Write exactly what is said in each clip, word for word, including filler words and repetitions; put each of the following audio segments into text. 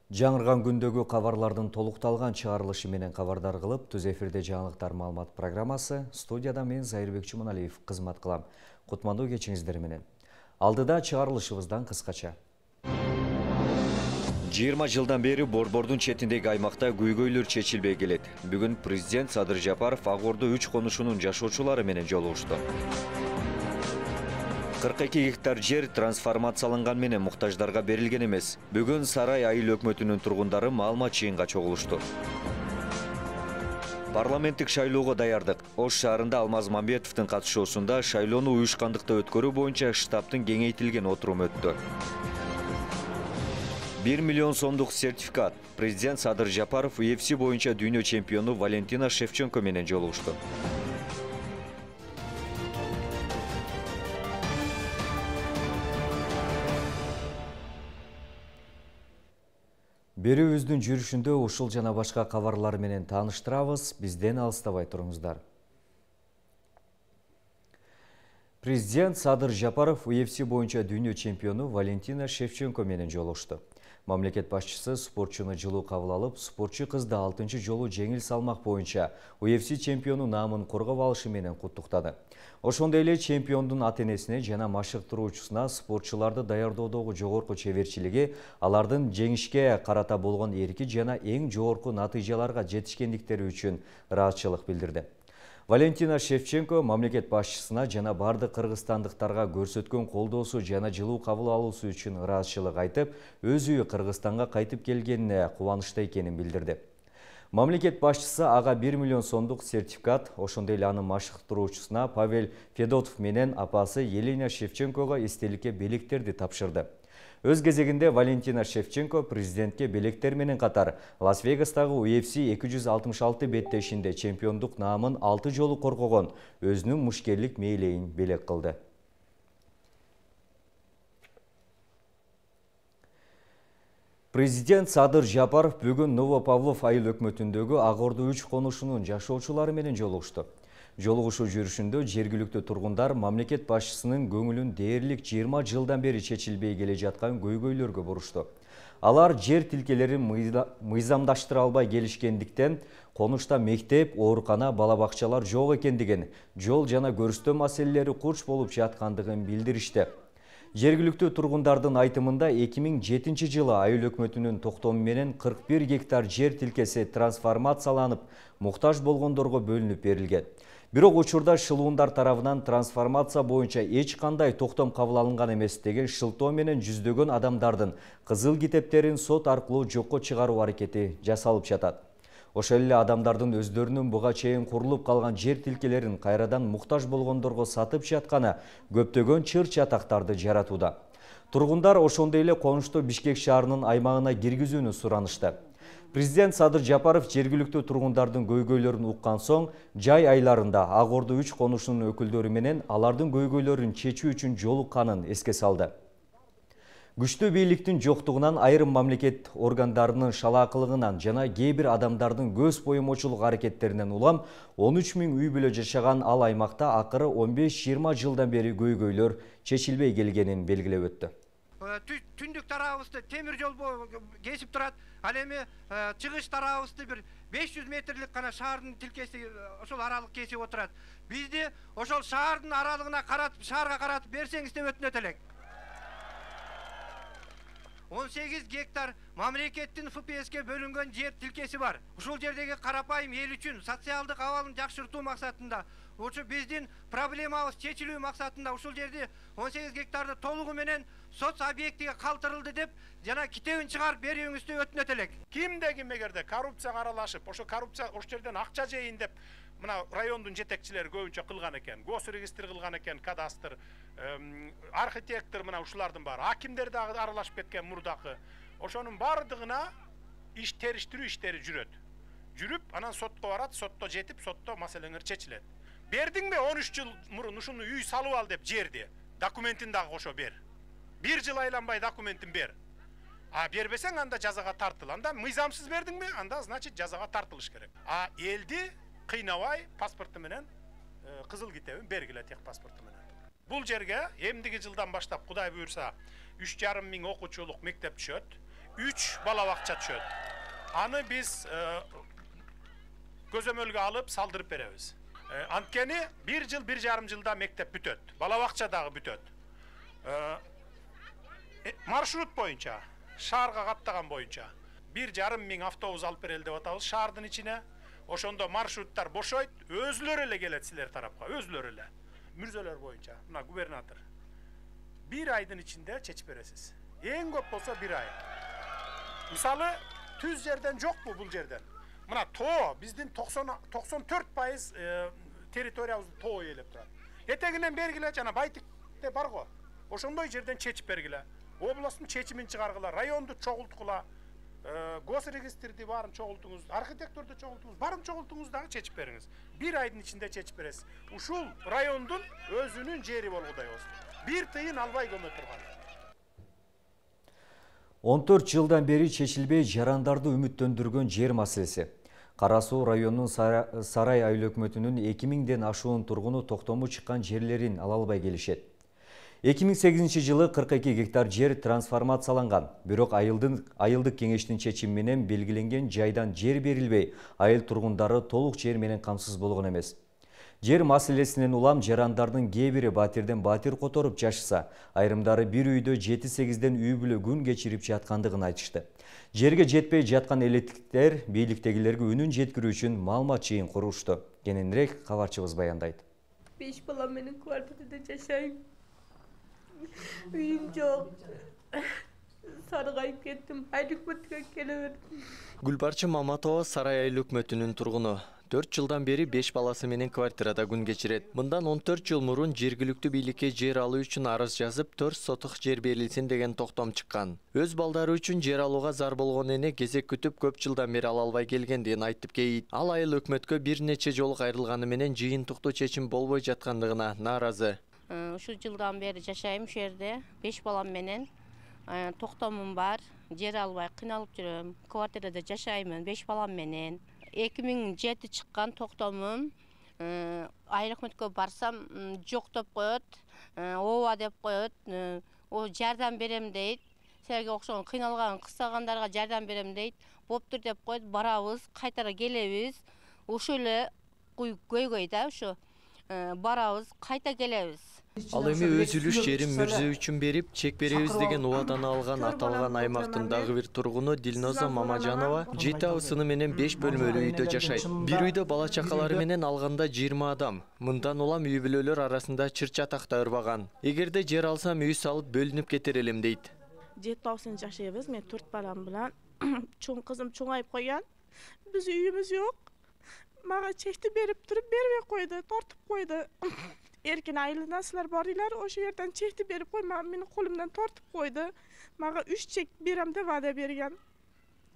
Жаңырган күндөгү кабарлардын толукталган чыгарылышы менен кабардар кылып, түз эфирде жаңылыктар маалымат программасы, студияда мен Зайырбек Чуманалиев кызмат кылам. Кутмандуу кечиңиздер менен. Алдыда чыгарылышыбыздан кыскача. жыйырма жылдан бери Борбордун четиндеги аймакта көйгөйлөр чечилбей келет. Бүгүн президент Садыр Жапаров Ак Ордо үч конушунун жашоочулары менен жолугушту. кырк эки гектар жер трансформацияланган менен муктаждарга берилген эмес. Бүгүн Сарай айыл өкмөтүнүн тургундары маалымат жыйынга чогулушту. Парламенттик шайлоого даярдык. Ош шаарында Алмаз Мамбетовдун катышуусунда шайлоону уюшкандыкта өткөрүү боюнча штабтын кеңейтилген отуруму өттү. бир миллион сомдук сертификат. Президент Садыр Жапаров ю эф си боюнча дүйнө чемпиону Валентина Шевченко менен жолугушту. Берүүбүздүн жүрүшүндө ушул жана башка кабарлар менен тааныштырабыз. Бизден алыстабай туруңуздар. Президент Садыр Жапаров ю эф си боюнча дүйнө чемпиону Валентина Шевченко менен жолугушту. Мамлекет башчысы спортчуну жылуу кабыл алып, спортчу кызды алтынчы жолу жеңил салмак боюнча ю эф си чемпиону наамын коргоп алышы менен куттуктады. Ошондой эле чемпиондун ата-энесине жана машыктыруучусуна спортчуларды даярдоодогу жогорку чеберчилиги, алардын жеңишке карата болгон эрки жана эң жогорку натыйжаларга жетишкендиктери үчүн ыраазычылык билдирди. Валентина Шевченко мамлекет башчысына жана бардык кыргызстандыктарга көрсөткөн колдоосу жана жылуу кабыл алуусу үчүн ыраазычылык айтып, өз үйү Кыргызстанга кайтып келгенине кубанычта экенин билдирди. Мамлекет башчысы ага бир миллион сомдук сертификат, ошондой эле анын машыктыруучусуна Павел Федотов менен апасы Елена Шевченкого эстеликке белектерди тапшырды. Өз кезегинде Валентина Шевченко президентке белектер менен катар Лас-Вегастагы ю эф си эки жүз алтымыш алты беттешинде чемпиондук наамын алты жолу коргогон өзүнүн мушкерлик мээлейин белек кылды. Президент Садыр Жапаров бүгүн Новопавлов айыл өкмөтүндөгү Ак Ордо үч конушунун жашоочулары менен жолугушту. Жолугушуу жүрүшүндө жергиликтүү тургундар мамлекет башчысынын көңүлүн дээрлик жыйырма жылдан бери чечилбей келе жаткан көйгөйлөргө бурушту. Алар жер тилкелерин мыйзамдаштыра албай келишкендиктен, конушта мектеп, оорукана, бала бакчалар жок экендигин, жол жана көрүстөө маселелери курч болуп жаткандыгын билдиришти. Жергиликтүү тургундардын айтымында эки миң жетинчи жылы айыл өкмөтүнүн токтому менен кырк бир гектар жер тилкеси трансформацияланып, муктаж болгондорго бөлүнүп берилген. Бирок учурда шылуундар тарабынан трансформация боюнча эч кандай токтом кабыл алынган эмес деген шылтоо менен жүздөгөн адамдардын кызыл китептерин сот аркылуу жокко чыгаруу аракети жасалып жатат. Ошол эле адамдардын өздөрүнүн буга чейин курулуп калган жер тилкелерин кайрадан муктаж болгондорго сатып жатканы көптөгөн чыр чатактарды жаратууда. Тургундар ошондой эле конушту Бишкек шаарынын аймагына киргизүүнү суранышты. Президент Садыр Жапаров жергиликтүү тургундардын көйгөйлөрүн уккан соң, жай айларында Ак Ордо үч конушунун өкүлдөрү менен алардын көйгөйлөрүн чечүү үчүн жолукканын эске салды. Күчтүү бийликтин жоктугунан, айрым мамлекет органдарынын шалаакылыгынан жана кээ бир адамдардын көз боемочулук аракеттеринен улам он үч миң үй бүлө жашаган ал аймакта акыры он беш жыйырма жылдан бери көйгөйлөр чечилбей келгенин белгилеп өттү. Түндүк тарабыбызды темир жол кесип турат. Ал эми чыгыш тарабыбызды бир беш жүз метрлик гана шаардын тилкеси ошол аралык кесип отурат. Бизди ошол шаардын аралыгына каратып, шаарга каратып берсеңиз деп өтүнөт элек. он сегиз гектар мамлекеттин эф пэ эске бөлүнгөн жер тилкеси бар. Ушул жердеги карапайым эл үчүн социалдык абалын жакшыртуу максатында, ушу биздин проблемабыз чечилүү максатында ушул жерди он сегиз гектарды толугу менен соц объектиге калтырылды деп жана китебин чыгарып берүүңүздү өтүнөт элек. Кимде ким эгерде коррупцияга аралашып, ошо коррупция ошол жерден акча жейин деп мына райондун жетекчилери көбүнчө кылган экен. Госрегистр кылган экен, кадастр, архитектор мына ушулардын баары. Акимдер дагы аралашып кеткен мурдакы. Ошонун бардыгына иш териштирүү иштери жүрөт. Жүрүп, анан сотко барат, сотто жетип, сотто маселеңер чечилет. Бердиңби он үч жыл мурун ушуну үй салып ал деп жерди. Документин дагы кошо бер. бир жыл айланбай документин бер. А бербесең анда жазага тартыл. Анда мыйзамсыз бердиңби? Анда значит жазага тартылыш керек. А элди кыйнабай паспорту менен кызыл китебин бергиле, тех паспорту менен. Бул жерге эмдиги жылдан баштап Кудай буйрса үч жарым миң окуучулук мектеп түшөт. үч бала бакча түшөт. Аны биз көзөмөлгө алып салдырып беребиз. Анткени бир жыл, бир жарым жылда мектеп бүтөт. Бала бакча дагы бүтөт. Маршрут боюнча, шаарга каттаган боюнча бир жарым миң автобус алып берели деп атабыз шаардын ичине. Ошондо маршруттар бошойт, өзүлөр эле келет силер тарапка, өзүлөр эле. Мүрзөлөр боюнча, мына губернатор. Бир айдын ичинде чечип бересиз. Эң көп болсо бир ай. Мисалы, түз жерден жокпу бул жерден. Мына тоо, биздин токсон төрт пайыз территориябызды тоо ээлеп турат. Этегинен бергиле, жана Байтикте бар го. Ошондой жерден чечип бергиле. Областтын чечимин чыгаргыла, районду чогулткула, госрегистрди баарын чогултуңуз, архитектурду чогултуңуз, баарын чогултуңуз дагы чечип бериңиз. Бир айдын ичинде чечип бересиз. Ушул райондун өзүнүн жери болгудай болсун. Бир тыйын албай көмө турган. он төрт жылдан бери чечилбей жарандарды үмүттөндүргөн жер маселеси. Кара Суу районунун Сарай айыл өкмөтүнүн эки миңден ашуун тургуну токтому чыккан жерлерин ала албай келишет. эки миң сегизинчи жылы кырк эки гектар жер трансформацияланган. Бирок айылдык кеңештин чечими менен белгиленген жайдан жер берилбей, айыл тургундары толук жер менен камсыз болгон эмес. Жер маселесинен улам жарандардын кээ бири батирден батир которуп жашаса, айрымдары бир үйдө жети сегизден үй бүлө күн кечирип жаткандыгын айтышты. Жерге жетпей жаткан электиктер бийликтегилерге үнүн жеткирүү үчүн маалымат жыйын курушту. Кененирээк кабарчыбыз баяндайт. Беш балам менен квартирада жашайм. Үйүм жок. Саргайып кеттим. Айыл өкмөткө келе бердим. Гүлбарчы Маматова Сарай айыл өкмөтүнүн тургуну. төрт жылдан бери беш баласы менен квартирада күн кечирет. Мындан он төрт жыл мурун жергиликтүү бийликке жер алуу үчүн арыз жазып, төрт сотук жер берилсин деген токтом чыккан. Өз балдары үчүн жер алууга зар болгон эне кезек күтүп көп жылдан бери ала албай келгендигин айтып кейт. Ал айыл өкмөткө бир нече жолу кайрылганы менен жыйынтыктуу чечим болбой жаткандыгына нааразы. Ушул жылдан бери жашайм ушул жерде, беш балам менен. Токтомум бар, жер албай кыйналып жүрөм. Квартирада жашаймын беш балам менен. эки миң жети чыккан токтомум. Айыл өкмөткө барсам жок деп коет, ооба деп коет. О жардам берем дейт. Силерге окшогон кыйналган, кыстагандарга жардам берем дейт. Боптур деп коет, барабыз, кайтара келебиз. Ошол эле көйгөй да ушу. Барабыз, кайта келебиз. Ал эми өз үлүш жерин мүрзө үчүн берип, чек беребиз деген убаданы алган аталган аймактын дагы бир тургуну Дилноза Мамажанова жети абысыны менен беш бөлмөлүү үйдө жашайт. Бир үйдө бала чакалары менен алганда жыйырма адам. Мындан улам үй бүлөлөр арасында чыр чатак да ырбаган. Эгерде жер алсам үй салып бөлүнүп кетер элем дейт. Жети абысын жашайбыз, мен төрт балам менен. Чоң кызым чоңайып койгон. Биз үйүбүз жок. Мага чекти берип туруп бербей койду, тортуп койду. Эркин айылынан силер барыйлар, ошол жерден чекти берип койма, менин колумдан тортуп койду. Мага үч чек берем деп вада берген.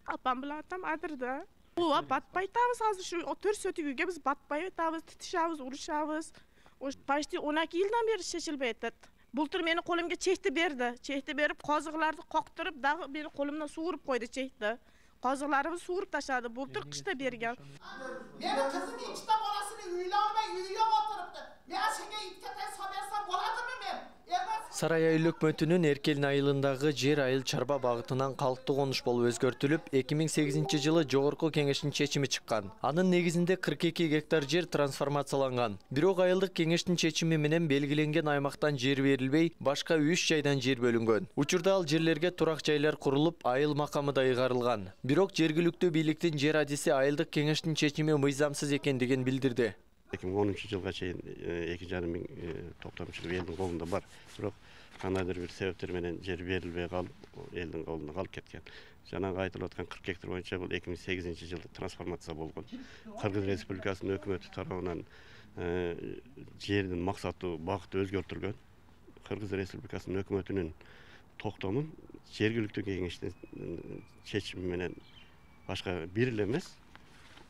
Апам менен атам адырда. Ооба, батпай атабыз азыр ушу төрт сотигүүгө биз батпай атабыз, титишабыз, урушабыз. Ош почти он эки жылдан бери чечилбей атат. Бултур менин колумга чекти берди. Чекти берип, козугларды коктуруп, дагы менин колумдан сууруп койду чекти. Козугларыбыз сууруп таштады. Бултур кышта берген. Менин кызым ичте баласын үйлө албай үйгө отурупту. Мен сенге иткетен соберсам боладымы мен? Сарай айыл өкмөтүнүн Эркелин айылындагы жер айыл чарба багытынан калктуу конуш болуп өзгөртүлүп, эки миң сегизинчи жылы жогорку кеңештин чечими чыккан. Анын негизинде кырк эки гектар жер трансформацияланган. Бирок айылдык кеңештин чечими менен белгиленген аймактан жер берилбей, башка үч жайдан жер бөлүнгөн. Учурда ал жерлерге турак жайлар курулуп, айыл макамы да ыйгарылган. Бирок жергиликтүү бийликтин жер адиси айылдык кеңештин чечими мыйзамсыз экендигин билдирди. эки миң онунчу жылга чейин эки жарым миң токтомчулук элдин колунда бар. Бирок кандайдыр бир себептер менен жер берилбей калып, элдин колунда калып кеткен. Жанагы айтылып аткан кырк гектар боюнча бул эки миң сегизинчи жылы трансформация болгон. Кыргыз Республикасынын өкмөтү тарабынан жердин максаты, багыты өзгөртүлгөн. Кыргыз Республикасынын өкмөтүнүн токтомун жергиликтүү кеңештин чечими менен башка бир эле эмес,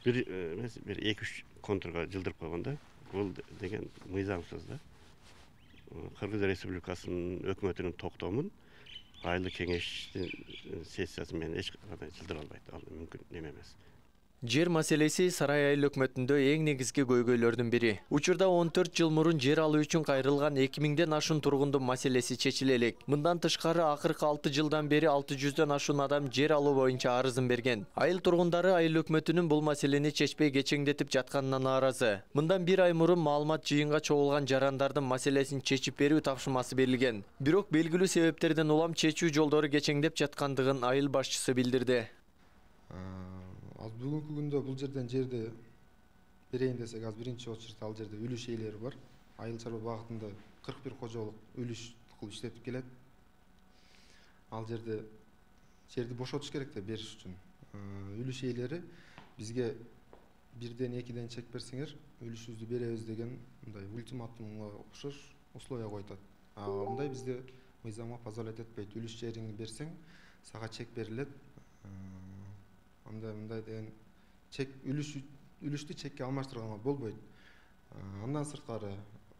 бир эмес, бир эки үч контурга жылдырып койгондо, бул деген мыйзамсыз да. Кыргыз Республикасынын өкмөтүнүн токтомун айылдык кеңештин сессиясы менен эч кандай жылдыра албайт. Ал мүмкүн эме эмес. Жер маселеси Сарай айыл өкмөтүндө эң негизги көйгөйлөрдүн бири. Учурда он төрт жыл мурун жер алуу үчүн кайрылган эки миңден ашуун тургундун маселеси чечиле элек. Мындан тышкары акыркы алты жылдан бери алты жүздөн ашуун адам жер алуу боюнча арызын берген. Айыл тургундары айыл өкмөтүнүн бул маселени чечпей кечеңдетип жатканына нааразы. Мындан бир ай мурун маалымат жыйынга чогулган жарандардын маселесин чечип берүү тапшырмасы берилген. Бирок белгилүү себептерден улам чечүү жолдору кечеңдеп жаткандыгын айыл башчысы билдирди. Ал бүгүнкү күндө бул жерден жерди берейин десек, аз биринчи очередь ал жерде үлүш ээлери бар. Айыл чарба багытында кырк бир кожолук үлүш кылып иштетип келет. Ал жерде жерди бошотуш керек да бериш үчүн. Үлүш ээлери бизге бирден экиден чек берсеңер, үлүшүбүздү беребиз деген мындай ультиматумга окшош условия коюп. А мындай бизде мыйзамга позволять этпейт. Үлүш жериңди берсең, сага чек берилет. Андай мындай деген чек үлүш үлүштү чекке алмаштырганга болбойт. Андан сырткары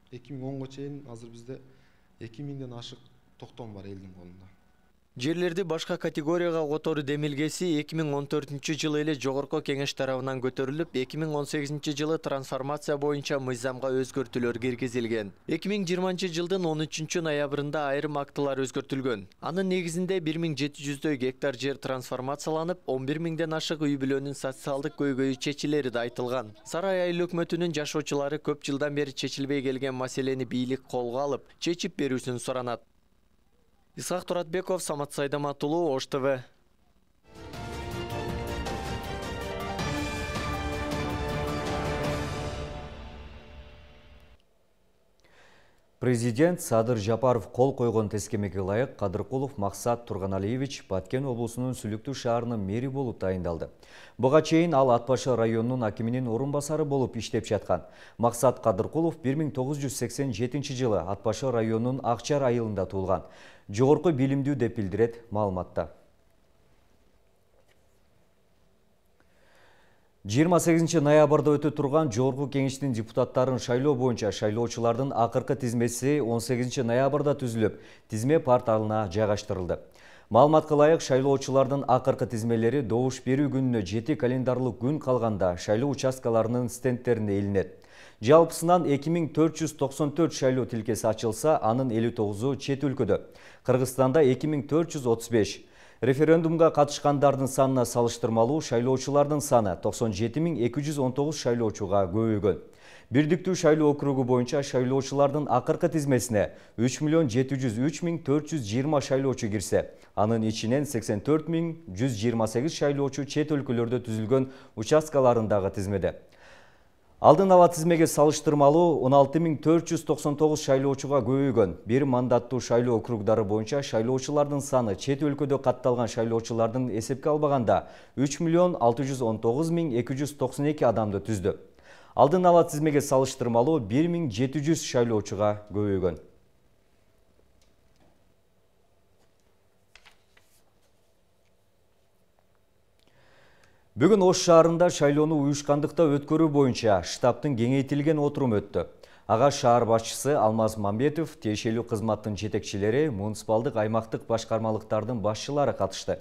эки миң онго чейин азыр бизде эки миңден ашык токтом бар элдин колунда. Жерлерди башка категорияга которуу демилгеси эки миң он төртүнчү жылы эле жогорку кеңеш тарабынан көтөрүлүп, эки миң он сегизинчи жылы трансформация боюнча мыйзамга өзгөртүүлөр киргизилген. эки миң жыйырманчы жылдын он үчүнчү ноябрында айрым актылар өзгөртүлгөн. Анын негизинде бир миң жети жүздөй гектар жер трансформацияланып, он бир миңден ашык үй бүлөнүн социалдык көйгөйү чечилери да айтылган. Сарай айыл өкмөтүнүн жашоочулары көп жылдан бери чечилбей келген маселени бийлик колго алып, чечип берүүсүн суранат. Исхак Туратбеков, Самат Сайдаматулуу, Ош ТВ. Президент Садыр Жапаров кол койгон тескемеге ылайык Кадыркулов Максат Турганалиевич Баткен облусунун Сүлүктүү шаарынын мэри болуп тайындалды. Буга чейин ал Ат Башы районунун акиминин орун басары болуп иштеп жаткан. Максат Кадыркулов бир миң тогуз жүз сексен жетинчи жылы Ат Башы районунун Акчар айылында туулган. Жогорку билимдүү деп билдирет маалыматта. жыйырма сегизинчи ноябрда өтө турган Жогорку кеңештин депутаттарын шайлоо боюнча шайлоочулардын акыркы тизмеси он сегизинчи ноябрда түзүлүп, тизме порталына жайгаштырылды. Маалыматка ылайык, шайлоочулардын акыркы тизмелери добуш берүү күнүнө жети календарлык күн калганда шайлоо участкаларынын стендтерине илинет. Жалпысынан эки миң төрт жүз токсон төрт шайлоо тилкеси ачылса, анын элүү тогузу чет өлкөдө. Кыргызстанда эки миң төрт жүз отуз беш. Референдумга катышкандардын санына салыштырмалуу шайлоочулардын саны токсон жети миң эки жүз он тогуз шайлоочуга көбөйгөн. Бирдиктүү шайлоо округу боюнча шайлоочулардын акыркы тизмесине үч миллион жети жүз үч миң төрт жүз жыйырма шайлоочу кирсе, анын ичинен сексен төрт миң жүз жыйырма сегиз шайлоочу чет өлкөлөрдө түзүлгөн участкаларындагы тизмеде. Алдын ала тизмеге салыштырмалуу он алты миң төрт жүз токсон тогуз шайлоочуга көбөйгөн. Бир мандаттуу шайлоо округдары боюнча шайлоочулардын саны чет өлкөдө катталган шайлоочулардын эсепке албаганда үч миллион алты жүз он тогуз миң эки жүз токсон эки адамды түздү. Алдын ала тизмеге салыштырмалуу бир миң жети жүз шайлоочуга көбөйгөн. Бүгүн Ош шаарында шайлоону уюшкандыкта өткөрүү боюнча штабтын кеңейтилген отурум өттү. Ага шаар башчысы Алмаз Мамбетов, тиешелүү кызматтын жетекчилери, муниципалдык аймактык башкармалыктардын башчылары катышты.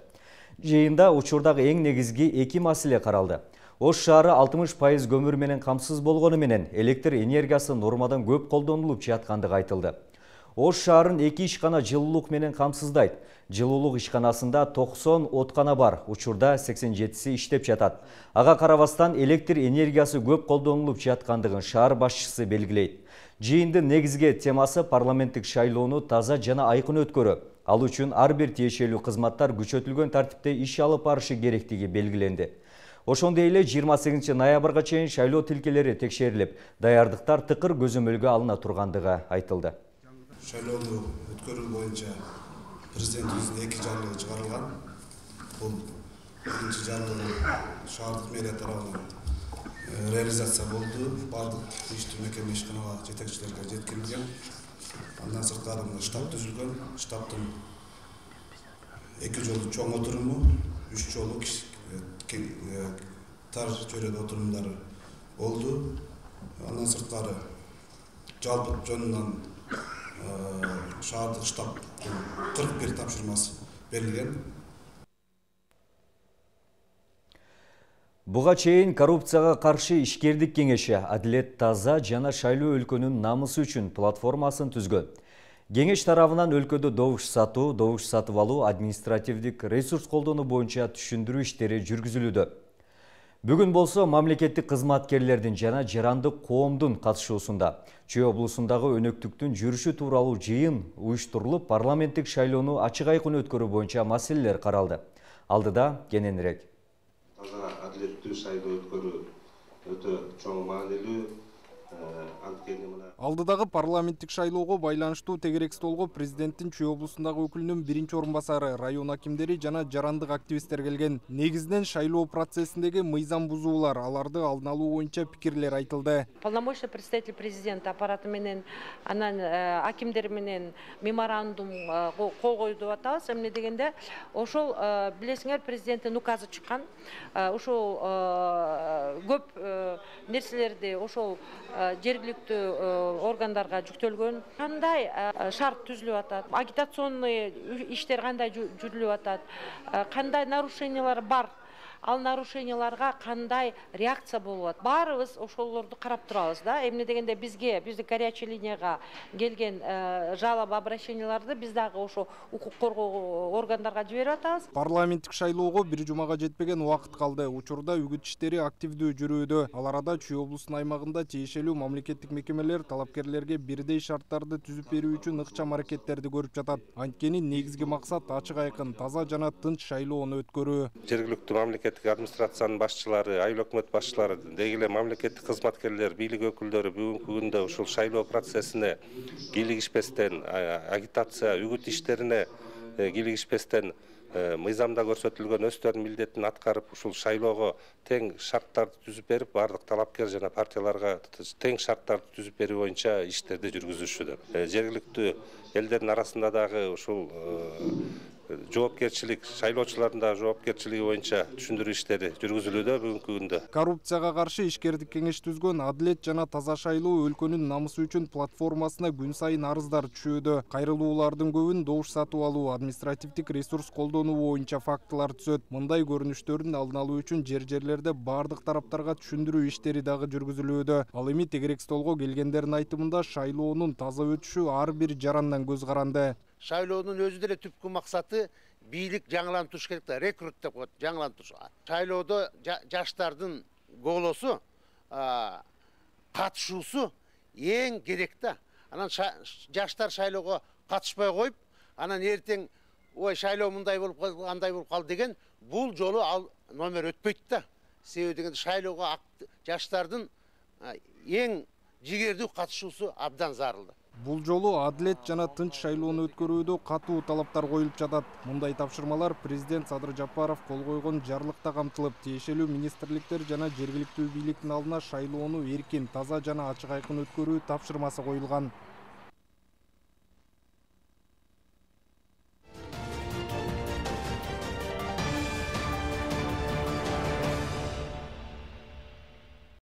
Жыйында учурдагы эң негизги эки маселе каралды. Ош шаары алтымыш пайыз көмүр менен камсыз болгону менен электр энергиясы нормадан көп колдонулуп жаткандыгы айтылды. Ош шаарын эки ишкана жылуулук менен камсыздайт. Жылуулук ишканасында токсон откана бар, учурда сексен жетиси иштеп жатат. Ага карабастан электр энергиясы көп колдонулуп жаткандыгын шаар башчысы белгилейт. Жыйындын негизги темасы парламенттик шайлоону таза жана айкын өткөрүү. Ал үчүн ар бир тиешелүү кызматтар күчөтүлгөн тартипте иш алып барышы керектиги белгиленди. Ошондой эле жыйырма сегизинчи ноябрга чейин шайлоо тилкелери текшерилип, даярдыктар тыкыр көзөмөлгө алына тургандыгы айтылды. Шайлоону өткөрүү боюнча президентибиздин эки жарлыгы чыгарылган. Бул биринчи жарлыгы шаардык мэрия тарабынан реализация болду. Бардык иштүү мекеме ишканага жетекчилерге жеткирилген. Андан сырткары штаб түзүлгөн. Штабтын эки жолу чоң отуруму, үч жолу тар чөйрөдө отурумдары болду. Андан сырткары жалпы жөнүнөн шаардык штабтын кырк бир тапшырмасы берилген. Буга чейин коррупцияга каршы ишкердик кеңеши Адилет таза жана шайлоо өлкөнүн намысы үчүн платформасын түзгөн. Кеңеш тарабынан өлкөдө добуш сатуу, добуш сатып алуу, административдик ресурс колдонуу боюнча түшүндүрүү иштери жүргүзүлүүдө. Бүгүн болсо мамлекеттик кызматкерлердин жана жарандык коомдун катышуусунда Чүй облусундагы өнөктүктүн жүрүшү тууралуу жыйын уюштурулуп, парламенттик шайлоону ачык айкын өткөрүү боюнча маселелер каралды. Алдыда кененирээк. Таза адилеттүү шайлоо өткөрүү өтө чоң маанилүү. Алдыдагы парламенттик шайлоого байланыштуу тегерек столго президенттин Чүй облусундагы өкүлүнүн биринчи орун басары, район акимдери жана жарандык активисттер келген. Негизинен шайлоо процессиндеги мыйзам бузуулар, аларды алдын алуу боюнча пикирлер айтылды. Полномочный представитель президента аппараты менен, анан акимдер менен меморандум кол койду атабыз. Эмне дегенде, ошол билесиңер президенттин указы чыккан. Ошол көп нерселерди ошол жергиликтүү органдарга жүктөлгөн. Кандай шарт түзүлүп атат, агитационный иштер кандай жүрүлүп атат, кандай нарушениялар бар, ал нарушенияларга кандай реакция болуп атат. Баарыбыз ошолорду карап турабыз да. Эмне дегенде бизге, биздин горячий линияга келген жалоб обращенияларды биз дагы ошо укук коргоо органдарга жиберип атабыз. Парламенттик шайлоого бир жумага жетпеген убакыт калды. Учурда үгүт иштери активдүү жүрүүдө. Ал арада Чүй облусунун аймагында тиешелүү мамлекеттик мекемелер талапкерлерге бирдей шарттарды түзүп берүү үчүн ыкчам аракеттерди көрүп жатат. Анткени негизги максат ачык айкын, таза жана тынч шайлоону өткөрүү. Жергиликтүү мамлекеттик администрациянын башчылары, айыл өкмөт башчылары, деги эле мамлекеттик кызматкерлер, бийлик өкүлдөрү бүгүнкү күндө ушул шайлоо процессине кийлигишпестен, агитация, үгүт иштерине кийлигишпестен мыйзамда көрсөтүлгөн өздөрүнүн милдетин аткарып, ушул шайлоого тең шарттарды түзүп берип, бардык талапкер жана партияларга тең шарттарды түзүп берүү боюнча иштерди жүргүзүшүдө. Жергиликтүү элдердин арасында дагы ушул жоопкерчилик, шайлоочулардын да жоопкерчилиги боюнча түшүндүрүү иштери жүргүзүлүүдө бүгүнкү күндө. Коррупцияга каршы ишкердик кеңеш түзгөн Адилет жана таза шайлоо өлкөнүн намысы үчүн платформасына күн сайын арыздар түшүүдө. Кайрылуулардын көбүн добуш сатып алуу, административдик ресурс колдонуу боюнча фактылар түзөт. Мындай көрүнүштөрдүн алдын алуу үчүн жер-жерлерде бардык тараптарга түшүндүрүү иштери дагы жүргүзүлүүдө. Ал эми тегерек столго келгендердин айтымында шайлоонун таза өтүшү ар бир жарандан көз каранды. Шайлоонун өзү деле түпкү максаты бийлик жаңылантыш керек да, рекрут деп коет, жаңылантыш. Шайлоодо жаштардын голосу, катышуусу эң керек да. Анан жаштар шайлоого катышпай коюп, анан эртең ой шайлоо мындай болуп калды, андай болуп калды деген бул жолу ал номер өтпөйт да. Себеби дегенде шайлоого жаштардын эң жигердүү катышуусу абдан зарыл. Бул жолу адилет жана тынч шайлоону өткөрүүдө катуу талаптар коюлуп жатат. Мындай тапшырмалар президент Садыр Жапаров кол койгон жарлыкта камтылып, тиешелүү министрликтер жана жергиликтүү бийликтин алдына шайлоону эркин, таза жана ачык айкын өткөрүү тапшырмасы коюлган.